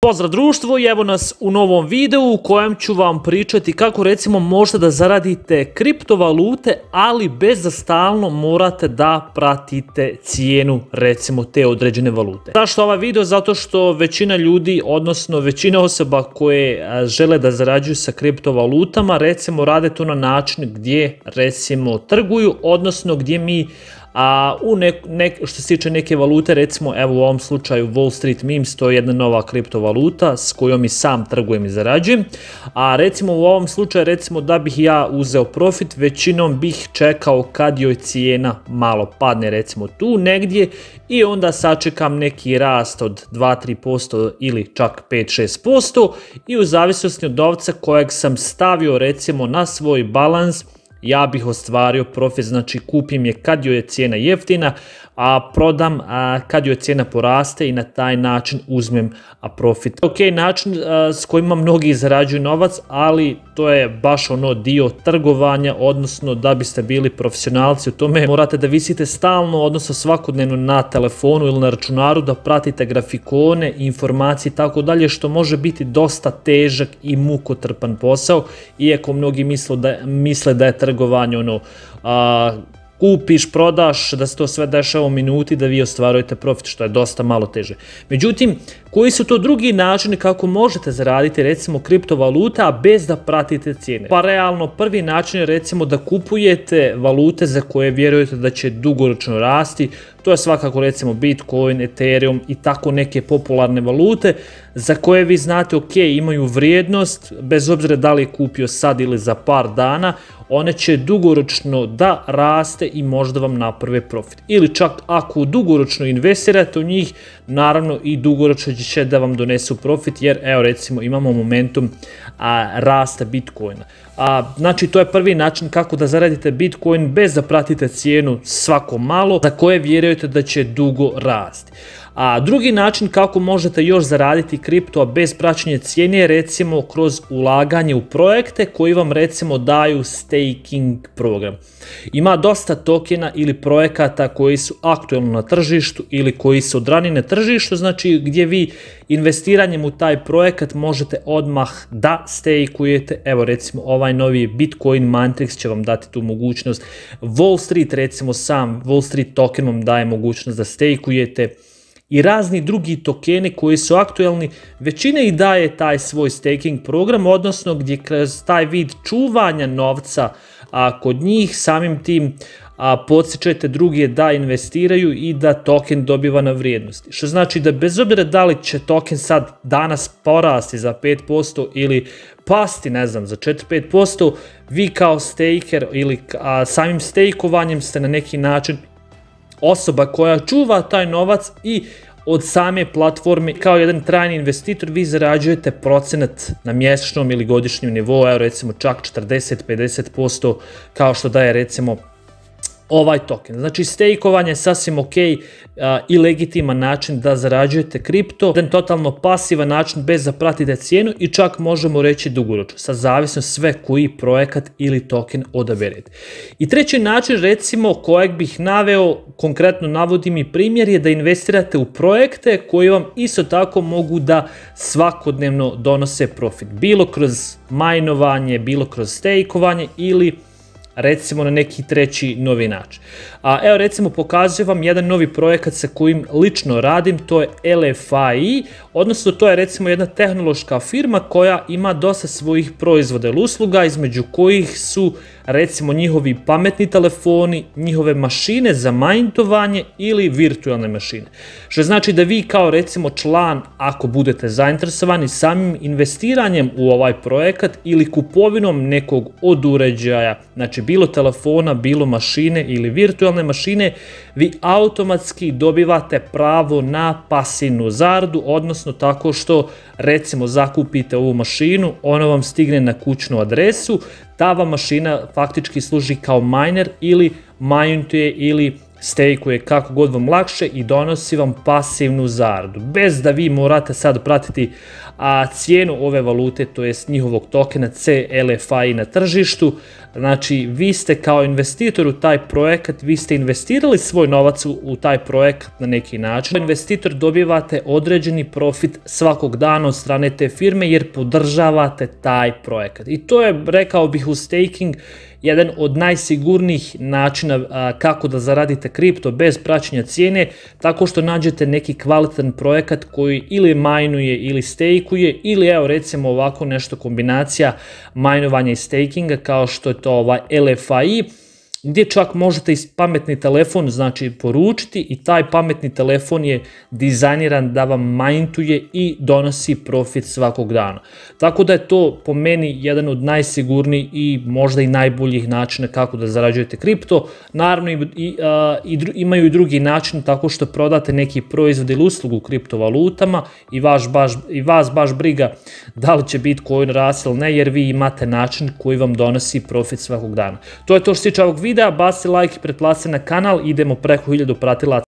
Pozdrav društvo i evo nas u novom videu u kojem ću vam pričati kako recimo možete da zaradite kriptovalute, ali bez da stalno morate da pratite cijenu recimo te određene valute. Zašto ovaj video? Zato što većina ljudi, odnosno većina osoba koje žele da zarađuju sa kriptovalutama recimo rade to na način gdje recimo trguju, odnosno gdje mi što se tiče neke valute, recimo evo u ovom slučaju Wall Street Memes, to je jedna nova kriptovaluta s kojom i sam trgujem i zarađujem, a recimo u ovom slučaju recimo da bih ja uzeo profit, većinom bih čekao kad joj cijena malo padne recimo tu negdje i onda sačekam neki rast od 2-3% ili čak 5-6% i u zavisnosti od novca kojeg sam stavio recimo na svoj balans, ja bih ostvario profit, znači kupim je kad joj je cijena jeftina, a prodam kad joj cijena poraste i na taj način uzmem profit. Ok, način s kojima mnogi zarađuju novac, ali to je baš ono dio trgovanja, odnosno da biste bili profesionalci u tome morate da visite stalno, odnosno svakodnevno na telefonu ili na računaru, da pratite grafikone, informacije i tako dalje, što može biti dosta težak i mukotrpan posao, iako mnogi misle da je trgovanje ono kupiš, prodaš, da se to sve dešava u minuti, da vi ostvarujete profit, što je dosta malo teže. Međutim, koji su to drugi načini kako možete zaraditi recimo kriptovaluta, a bez da pratite cijene? Pa realno, prvi način je recimo da kupujete valute za koje vjerujete da će dugoročno rasti. To je svakako recimo Bitcoin, Ethereum i tako neke popularne valute za koje vi znate ok, imaju vrijednost, bez obzira da li je kupio sad ili za par dana, one će dugoročno da raste i možda vam naprave profit. Ili čak ako dugoročno investirate u njih, naravno i dugoročno će da vam donesu profit, jer evo recimo imamo momentum rasta Bitcoina. Znači to je prvi način kako da zaradite Bitcoin bez da pratite cijenu svako malo za koje vjerujete da će dugo rasti. A drugi način kako možete još zaraditi kripto bez praćenja cijene je recimo kroz ulaganje u projekte koji vam recimo daju staking program. Ima dosta tokena ili projekata koji su aktualno na tržištu ili koji su odranjeni na tržištu, znači gdje vi investiranjem u taj projekat možete odmah da stakujete. Evo recimo ovaj novi Bitcoin Matrix će vam dati tu mogućnost. Wall Street recimo sam Wall Street token vam daje mogućnost da stakujete. I razni drugi tokeni koji su aktualni, većina ih daje taj svoj staking program, odnosno gdje kroz taj vid čuvanja novca kod njih samim tim podsjećate druge da investiraju i da token dobiva na vrijednosti. Što znači da bez obzira da li će token sad danas porasti za 5% ili pasti, ne znam, za 4-5%, vi kao staker ili samim stakovanjem ste na neki način osoba koja čuva taj novac i od same platforme kao jedan trajni investitor vi zarađujete procenat na mjesečnom ili godišnjem nivou, evo recimo čak 40-50% kao što daje recimo ovaj token. Znači stakeovanje je sasvim ok i legitiman način da zarađujete kripto, jedan totalno pasivan način bez da pratite cijenu i čak možemo reći dugoročno, sa zavisno sve koji projekat ili token odaberete. I treći način recimo kojeg bih naveo, konkretno navodim i primjer, je da investirate u projekte koji vam isto tako mogu da svakodnevno donose profit, bilo kroz majnovanje, bilo kroz stakeovanje ili recimo na neki treći novi način. Evo recimo pokazujem vam jedan novi projekat sa kojim lično radim, to je LFI, odnosno to je recimo jedna tehnološka firma koja ima dosta svojih proizvoda ili usluga, između kojih su recimo njihovi pametni telefoni, njihove mašine za majntovanje ili virtualne mašine. Što znači da vi kao recimo član, ako budete zainteresovani samim investiranjem u ovaj projekat ili kupovinom nekog od uređaja, znači bilo telefona, bilo mašine ili virtualne mašine, vi automatski dobivate pravo na pasivnu zaradu, odnosno tako što recimo zakupite ovu mašinu, ona vam stigne na kućnu adresu, ta vam mašina faktički služi kao miner ili majntuje ili stejkuje kako god vam lakše i donosi vam pasivnu zaradu. Bez da vi morate sad pratiti cijenu ove valute, to jest njihovog tokena CLFI na tržištu. Znači, vi ste kao investitor u taj projekat, vi ste investirali svoj novac u taj projekat na neki način. Kao investitor dobivate određeni profit svakog dana od strane te firme jer podržavate taj projekat. I to je, rekao bih, u staking jedan od najsigurnijih načina kako da zaradite kripto bez praćenja cijene, tako što nađete neki kvalitetan projekat koji ili majnuje ili stejkuje, ili evo recimo ovako nešto kombinacija majnovanja i stakinga kao što je to LFI, gdje čak možete iz pametni telefon znači poručiti i taj pametni telefon je dizajniran da vam majntuje i donosi profit svakog dana. Tako da je to po meni jedan od najsigurnijih i možda i najboljih načina kako da zarađujete kripto. Naravno imaju i drugi način tako što prodate neki proizvod ili uslugu u kriptovalutama i vas baš briga da li će Bitcoin rasti ili ne, jer vi imate način koji vam donosi profit svakog dana. To je to što se tiče ovog videa, baci like i pretplati se na kanal, idemo preko 1000 pratilaca.